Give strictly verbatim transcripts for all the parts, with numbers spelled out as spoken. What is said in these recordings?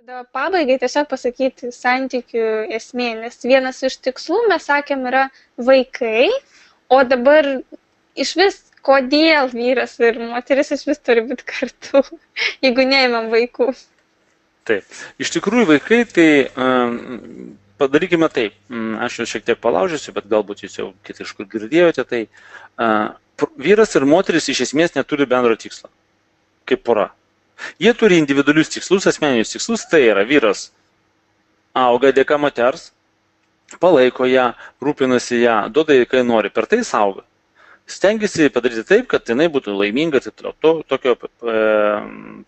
Tada pabaigai tiesiog pasakyti santykių esmė, nes vienas iš tikslų, mes sakėm, yra vaikai, o dabar iš vis, kodėl vyras ir moteris iš vis turi būti kartu, jeigu neimam vaikų. Taip, iš tikrųjų vaikai, tai um, padarykime taip, aš jau šiek tiek palaužysiu, bet galbūt jūs jau kitai iš kur girdėjote, tai uh, vyras ir moteris iš esmės neturi bendro tikslo, kaip pora. Jie turi individualius tikslus, asmeninius tikslus, tai yra vyras auga dėka moters, palaiko ją, rūpinasi ją, duoda jai, kai nori, per tai saugo. Stengiasi padaryti taip, kad jinai būtų laiminga, taip toliau, to, tokio e,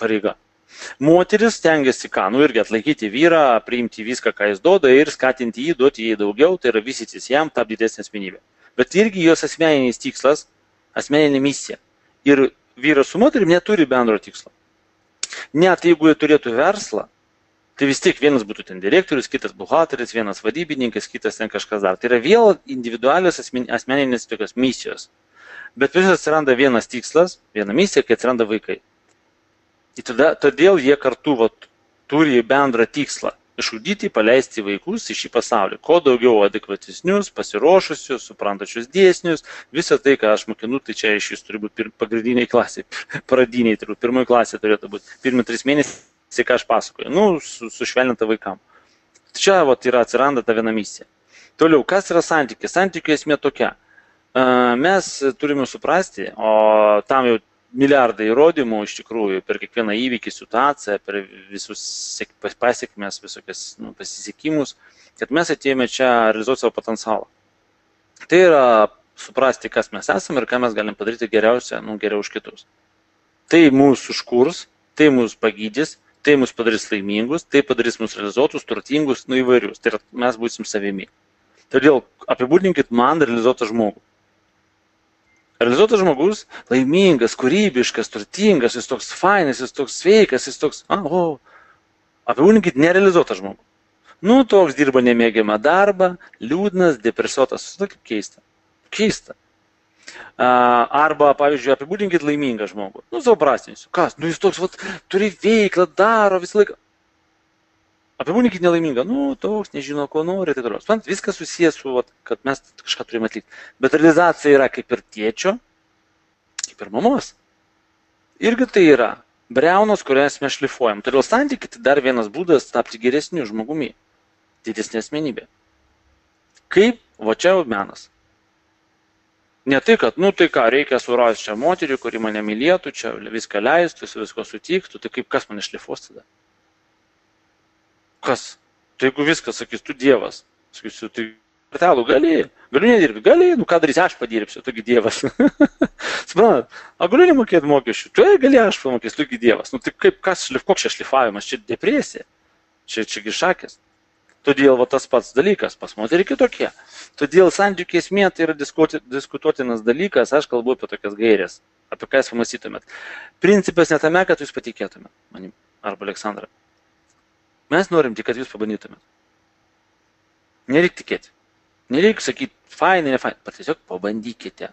pareiga. Moteris stengiasi ką, nu irgi atlaikyti vyrą, priimti viską, ką jis duoda ir skatinti jį, duoti jai daugiau, tai yra vystytis jam, tapti didesnė asmenybė. Bet irgi jos asmeninis tikslas, asmeninė misija. Ir vyras su moterim neturi bendro tikslo. Net jeigu jie turėtų verslą, tai vis tiek vienas būtų ten direktorius, kitas buhalteris, vienas vadybininkas, kitas ten kažkas dar. Tai yra vėl individualios asmeninės tokios misijos. Bet vis atsiranda vienas tikslas, viena misija, kai atsiranda vaikai. Ir tada, todėl jie kartu vat, turi bendrą tikslą – išugdyti, paleisti vaikus į šį pasaulį. Kuo daugiau adekvatesnius, pasiruošusius, suprantačius dėsnius, visą tai, ką aš mokinu, tai čia iš jūs turi būti pagrindiniai klasiai, pradiniai, turbūt pirmoji klasė turėtų būti. Pirmi tris mėnesiai, ką aš pasakoju, nu, su, sušvelninta vaikam. Čia vat, yra atsiranda ta viena misija. Toliau, kas yra santykis? Santykių esmė tokia. Mes turime suprasti, o tam jau milijardai įrodymų iš tikrųjų per kiekvieną įvykį, situaciją, per visus pasiekmes, visokias nu, pasisekimus, kad mes atėjome čia realizuoti savo potencialą. Tai yra suprasti, kas mes esame ir ką mes galim padaryti geriausia, nu, geriau už kitus. Tai mūsų užkurs, tai mūsų pagydys, tai mūsų padarys laimingus, tai padarys mūsų realizuotus, turtingus, nu įvairius. Tai yra, mes būsim savimi. Todėl apibūdinkit man realizuotą žmogų. Realizuotas žmogus, laimingas, kūrybiškas, turtingas, jis toks fainas, jis toks sveikas, jis toks, a, o, apibūdinkit nerealizuotą žmogų. Nu, toks dirba nemėgiamą darbą, liūdnas, depresuotas, tai kaip keista. Keista. Arba, pavyzdžiui, apibūdinkit laimingą žmogų. Nu, suprastinsiu. Kas? Nu, jis toks, vat, turi veiklą, daro visą laiką. Apibūdinkit nelaimingą. Nu, toks, nežino, ko nori, tai toliau. Spant, viskas susijęs su, vat, kad mes kažką turime atlikti. Bet realizacija yra kaip ir tėčio, kaip ir mamos. Irgi tai yra briaunos, kurias mes šlifuojam. Todėl santykiai tai dar vienas būdas tapti geresniu žmogumi. Didesnė asmenybė. Kaip? Va čia jau menas. Ne tai, kad, nu tai ką, reikia surasti čia moterį, kuri mane mylėtų, čia viską leistų, visko sutiktų, tai kaip kas mane šlifuos tada? Kas? Tai jeigu viskas, sakys, tu Dievas, sakysiu, tai kartelų gali, galiu nedirbti, gali, nu ką darysi, aš padirbsiu, tugi Dievas. Suprantat, a galiu nemokėti mokesčių, tu gali aš pamokėsiu, tugi Dievas. Nu tai kaip, kas, koks čia šlifavimas, čia depresija, čia čiagi šakės. Todėl va, tas pats dalykas, pas moterį kitokie. Todėl santykių esmė tai yra diskutuotinas dalykas, aš kalbu apie tokias gairės, apie ką jūs pamastytumėt. Principas ne tame, kad jūs patikėtumėt manim, arba Aleksandra. Mes norim tik, kad jūs pabandytumėt. Nereik tikėti. Nereik sakyti, fainai, ne fainai, bet tiesiog pabandykite.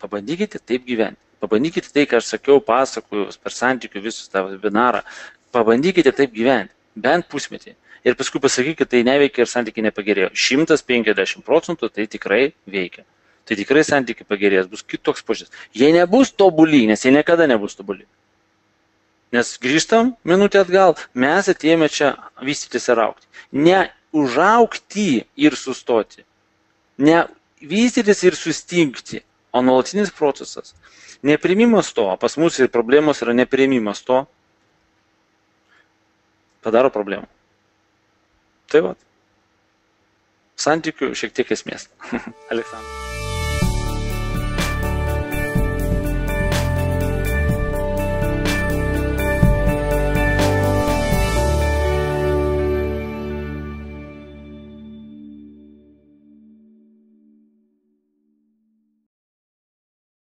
Pabandykite taip gyventi. Pabandykite tai, ką aš sakiau, pasakoju per santykių visus tą webinarą. Pabandykite taip gyventi, bent pusmetį. Ir paskui pasakykite, tai neveikia ir santykiai nepagerėjo. šimtas penkiasdešimt procentų tai tikrai veikia. Tai tikrai santykiai pagerės, bus kitoks požiūris. Jie nebus tobuli, nes jie niekada nebus tobuli. Nes grįžtam minutę atgal, mes atėjome čia vystytis ir augti. Ne užaugti ir sustoti. Ne vystytis ir sustingti, o nuolatinis procesas. Nepriimimas to, pas mus ir problemos yra nepriimimas to, padaro problemų. Tai va, santykių šiek tiek esmės. Aleksandras.